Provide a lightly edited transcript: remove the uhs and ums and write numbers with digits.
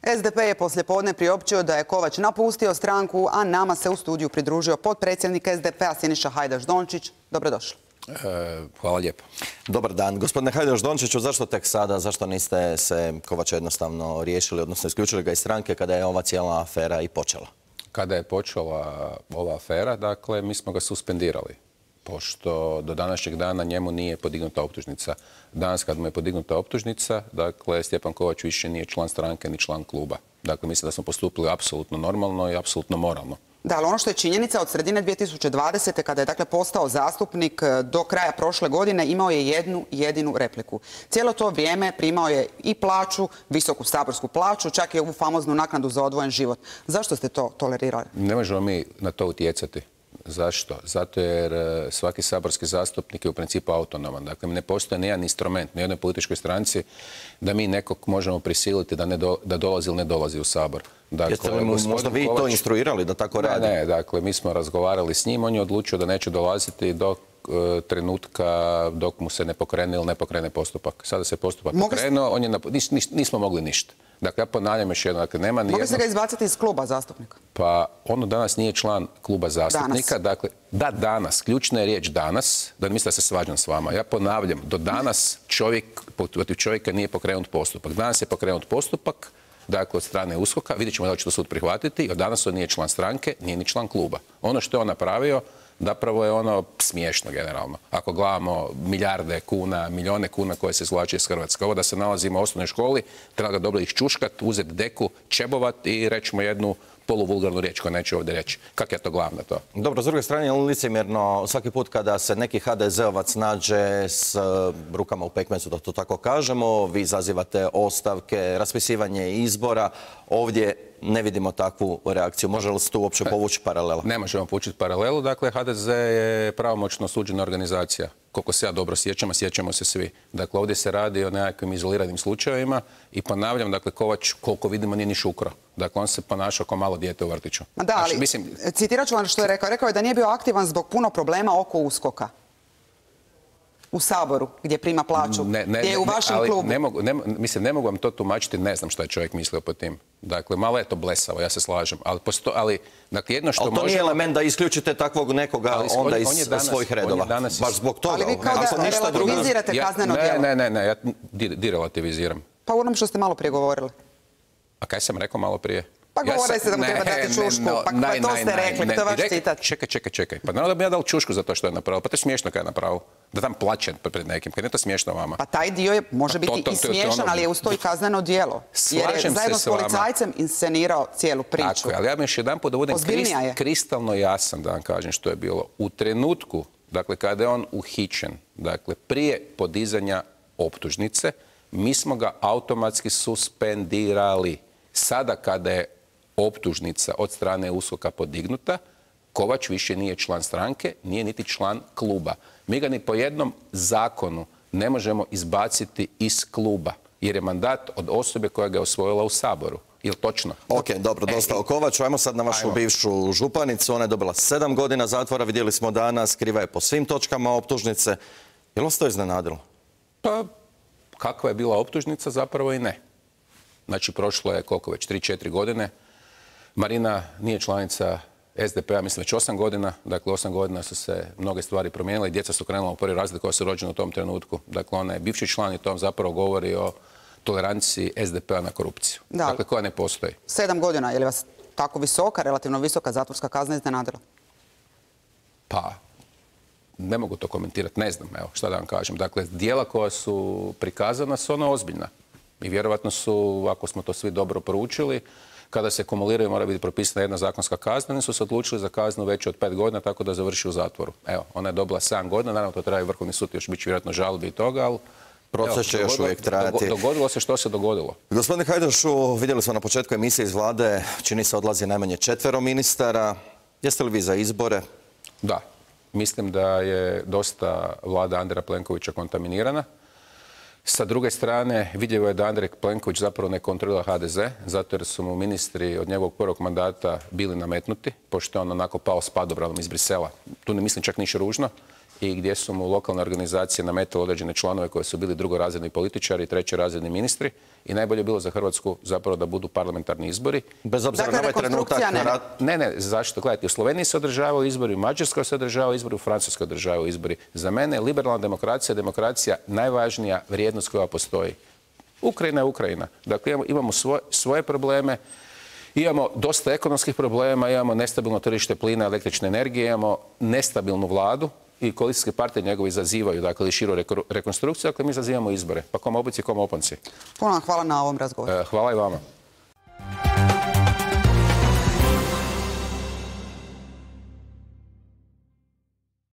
SDP je poslijepodne priopćio da je Kovač napustio stranku, a nama se u studiju pridružio potpredsjednik SDP-a Siniša Hajdaš-Dončić. Dobrodošli. Hvala lijepo. Dobar dan. Gospodine Hajdaš-Dončiću, zašto tek sada? Zašto niste se Kovača jednostavno riješili, odnosno isključili ga iz stranke kada je ova cijela afera i počela? Kada je počela ova afera, dakle, mi smo ga suspendirali. Pošto do današnjeg dana njemu nije podignuta optužnica. Danas kad mu je podignuta optužnica, dakle, Stjepan Kovač više nije član stranke ni član kluba. Dakle, mislim da smo postupili apsolutno normalno i apsolutno moralno. Da, ali ono što je činjenica od sredine 2020. kada je dakle postao zastupnik do kraja prošle godine, imao je jednu jedinu repliku. Cijelo to vrijeme primao je i plaću, visoku saborsku plaću, čak i ovu famoznu naknadu za odvojen život. Zašto ste to tolerirali? Ne možemo mi na to utjecati. Zašto? Zato jer svaki saborski zastupnik je u principu autonoman. Dakle, ne postoji nijedan instrument, nijednoj političkoj stranci da mi nekog možemo prisiliti da dolazi ili ne dolazi u Sabor. Dakle, jeste li možda vi to instruirali da tako radi? Ne, dakle, mi smo razgovarali s njim, on je odlučio da neće dolaziti do trenutka dok mu se ne pokrene ili ne pokrene postupak. Sada se postupak pokrenuo, nismo mogli ništa. Dakle, ja ponavljam još jedno, dakle, nema nijedno... Mogli se ga izbaciti iz kluba zastupnika? Pa, ono danas nije član kluba zastupnika. Dakle, da danas, ključna je riječ danas, da misle da se svađam s vama. Ja ponavljam, do danas protiv čovjeka nije pokrenut postupak. Danas je pokrenut postupak, dakle, od strane USKOK-a, vidjet ćemo da li će to sud prihvatiti, od danas on nije član stranke, nije ni član kluba. Ono što je on napravio, zapravo je ono smiješno generalno. Ako gledamo milijarde kuna, milijone kuna koje se izvlače iz Hrvatske. Ovo da se nalazimo u osnovnoj školi, treba ga dobro iščuškat, uzeti deku, čebovat i reći mu jednu poluvulgarnu riječ koju neću ovdje reći. Kako ja to gledam na to? Dobro, s druge strane je licemjerno svaki put kada se neki HDZ-ovac nađe s rukama u pekmezu, da to tako kažemo, vi zazivate ostavke, raspisivanje izbora. Ovdje ne vidimo takvu reakciju. Može li se tu uopće povući paralela? Ne možemo povući paralelu. Dakle, HDZ je pravomoćno osuđena organizacija. Koliko se ja dobro sjećam, a sjećamo se svi. Dakle, ovdje se radi o nekakvim izoliranim slučajevima i ponavljam, dakle, Kovač, koliko vidimo, nije ni šukro. Dakle, on se ponašao kao malo dijete u vrtiću. Da, ali citirat ću vam što je rekao. Rekao je da nije bio aktivan zbog puno problema oko USKOK-a. U Saboru, gdje prima plaću, gdje je u vašem klubu. Ne mogu vam to tumačiti, ne znam šta je čovjek mislio po tim. Dakle, malo je to blesavo, ja se slažem. Ali dakle, jedno što može... Ali to nije element da isključite takvog nekoga onda iz svojih redova. Baš zbog toga. Ali vi kao da relativizirate kazneno djelo. Ne, ja di relativiziram. Pa ono što ste malo prije govorili. A kaj sam rekao malo prije? Pa govore se da mu treba dati čušku, pa to ste rekli, to je vaš citat. Čekaj. Pa naravno da bi ja dal čušku za to što je napravio. Pa to je smiješno kaj je napravio. Da tam plaćen pred nekim, kad je to smiješno vama. Pa taj dio može biti i smiješan, ali je uz to i kazneno djelo. Jer je zajedno s policajcem inscenirao cijelu priču. Tako je, ali ja bih još jedan put da budem kristalno jasan da vam kažem što je bilo. U trenutku, dakle, kada je on uhićen, dakle, prije podizanja optužnice, mi smo ga automatski suspendirali. Sada kada je optužnica od strane USKOK-a podignuta, Kovač više nije član stranke, nije niti član kluba. Mi ga ni po jednom zakonu ne možemo izbaciti iz kluba, jer je mandat od osobe koja ga je osvojila u Saboru. Jel točno? Ok, dobro, dosta o Kovaču. Ajmo sad na vašu bivšu županicu. Ona je dobila 7 godina zatvora, vidjeli smo danas, kriva je po svim točkama optužnice. Je li vas to iznenadilo? Pa, kakva je bila optužnica, zapravo i ne. Znači, prošlo je koliko već, 3-4 godine. Marina nije članica SDP-a, mislim već 8 godina. Dakle, 8 godina su se mnoge stvari promijenile. Djeca su krenula u prvi razred koja su rođena u tom trenutku. Dakle, ona je bivši član i to zapravo govori o toleranciji SDP-a na korupciju. Dakle, koja ne postoji. 7 godina, je li vas tako visoka, relativno visoka zatvorska kazna iznenadila? Pa, ne mogu to komentirati, ne znam, evo, šta da vam kažem. Dakle, dijela koja su prikazana su ona ozbiljna. I vjerovatno su, ako smo to svi dobro proučili, kada se kumuliraju mora biti propisana jedna zakonska kazna, oni su se odlučili za kaznu veću od 5 godina, tako da završi u zatvoru. Evo, ona je dobila 7 godina, naravno to traje Vrhovni sud, još bit će vjerojatno žalbi i toga, ali... Proces će još uvijek trajati. Dogodilo se što se dogodilo. Gospodine Hajdašu, vidjeli smo na početku emisije iz vlade, čini se odlazi najmanje 4 ministara. Jeste li vi za izbore? Da. Mislim da je dosta vlada Andreja Plenkovića kontaminirana. Sa druge strane, vidljivo je da Andrej Plenković zapravo ne kontrolira HDZ, zato jer su mu ministri od njegovog prvog mandata bili nametnuti, pošto je on onako pao s padobranom iz Brisela. Tu ne mislim čak ništa ružno. i gdje su mu lokalne organizacije nametale određene članove koji su bili drugorazredni političari i trećerazredni ministri i najbolje je bilo za Hrvatsku zapravo da budu parlamentarni izbori. Bez obzira na ovaj trenutak... Ne, zašto? Gledajte, u Sloveniji se održavaju izbori, u Mađarskoj se održavaju izbori, u Francuskoj održavaju izbori. Za mene je liberalna demokracija najvažnija vrijednost koja postoji. Ukrajina je Ukrajina. Dakle, imamo svoje probleme, imamo dosta ekonomskih problema, imamo nestabilno tržište plina, električne energije, imamo nestabilnu vladu i koalicijske partije njegovi izazivaju, dakle, i širu rekonstrukciju, dakle, mi izazivamo izbore. Pa kom oblici, kom opanci. Puno vam hvala na ovom razgovoru. Hvala i vama.